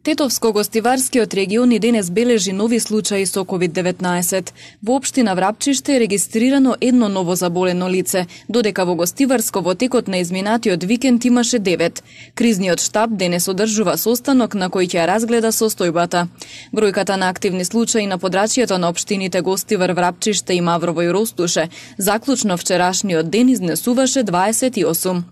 Тетовско-гостиварскиот регион и денес бележи нови случаи со COVID-19. Во општина Врапчиште е регистрирано едно ново заболено лице, додека во Гостиварско во текот на изминатиот викенд имаше 9. Кризниот штаб денес одржува состанок на кој ќе ја разгледа состојбата. Бројката на активни случаи на подрачјето на општините Гостивар, Врапчиште и Маврово и Ростуше заклучно вчерашниот ден изнесуваше 28.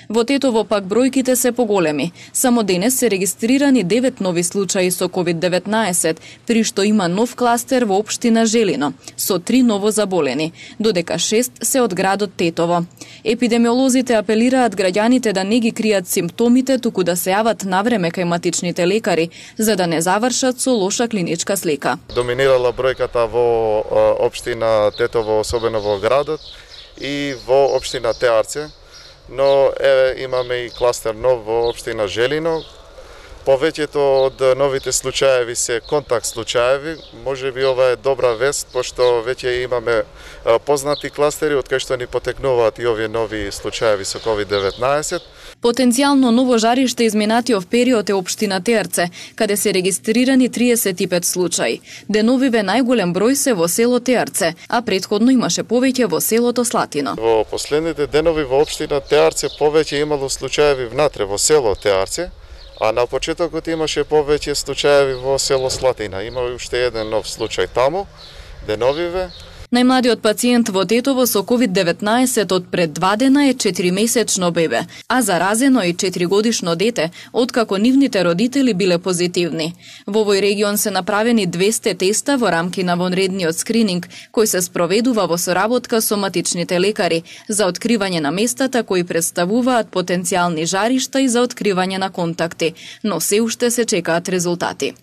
Во Тетово пак бројките се поголеми. Само денес се регистрирани 9 нови случаи со COVID-19, при што има нов кластер во општина Желино, со 3 ново заболени, додека 6 се од градот Тетово. Епидемиолозите апелираат граѓаните да не ги кријат симптомите, туку да се јават навреме кај матичните лекари, за да не завршат со лоша клиничка слика. Доминирала бројката во општина Тетово, особено во градот, и во општина Теарце, но имаме и кластер нов во општина Желино. Повеќето од новите случаеви се контакт случаеви. Може би ова е добра вест, пошто веќе имаме познати кластери од кај што ни потекнуваат и овие нови случаеви со COVID-19. Потенцијално ново жариште изминатиот период е општина Теарце, каде се регистрирани 35 случаи. Деновиве најголем број се во село Теарце, а претходно имаше повеќе во селото Слатино. Во последните денови во општина Теарце повеќе имало случаеви внатре во село Теарце, а на почетокот имаше повеќе случаеви во село Слатина. Има уште еден нов случај таму, деновиве. Најмладиот пациент во Тетово со COVID-19 од пред 2 дена е 4-месечно бебе, а заразено и 4-годишно дете, откако нивните родители биле позитивни. Во овој регион се направени 200 теста во рамки на вонредниот скрининг, кој се спроведува во соработка со матичните лекари за откривање на местата кои представуваат потенцијални жаришта и за откривање на контакти, но се уште се чекаат резултати.